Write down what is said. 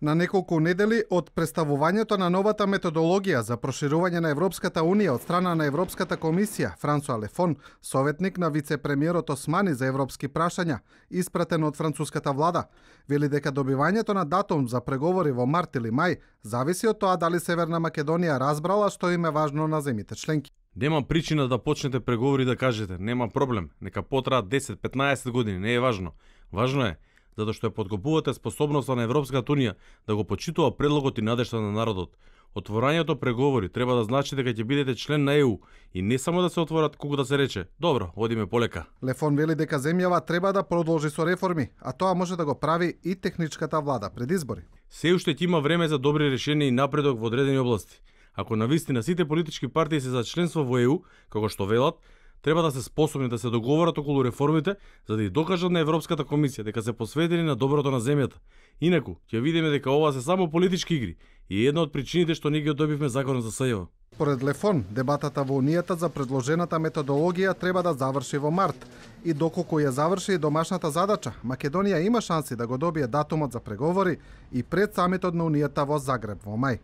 На неколку недели од представувањето на новата методологија за проширување на Европската Унија од страна на Европската комисија, Франсуа Лефон, советник на вице-премиерот Османи за европски прашања, испратен од француската влада, вели дека добивањето на датум за преговори во март или мај зависи од тоа дали Северна Македонија разбрала што им е важно на земите членки. Нема причина да почнете преговори да кажете, нема проблем, нека потраат 10-15 години, не е важно. Важно е затоа што ја подкопувате способноста на Европската Унија да го почитува предлогот и надежта на народот. Отворањето преговори треба да значи дека ќе бидете член на ЕУ и не само да се отворат колку да се рече, добро, одиме полека. Лефон вели дека земјава треба да продолжи со реформи, а тоа може да го прави и техничката влада пред избори. Се уште ќе има време за добри решенија и напредок во одредени области. Ако навистина сите политички партии се за членство во ЕУ, како што велат, треба да се способни да се договорат околу реформите, за да ја докажат на Европската комисија дека се посветени на доброто на земјата. Инаку, ќе видиме дека ова се само политички игри и една од причините што ние ги добивме законот за СЈО. Според Лефон, дебатата во Унијата за предложената методологија треба да заврши во март. И доколку ја заврши домашната задача, Македонија има шанси да го добие датумот за преговори и пред самитот на Унијата во Загреб во мај.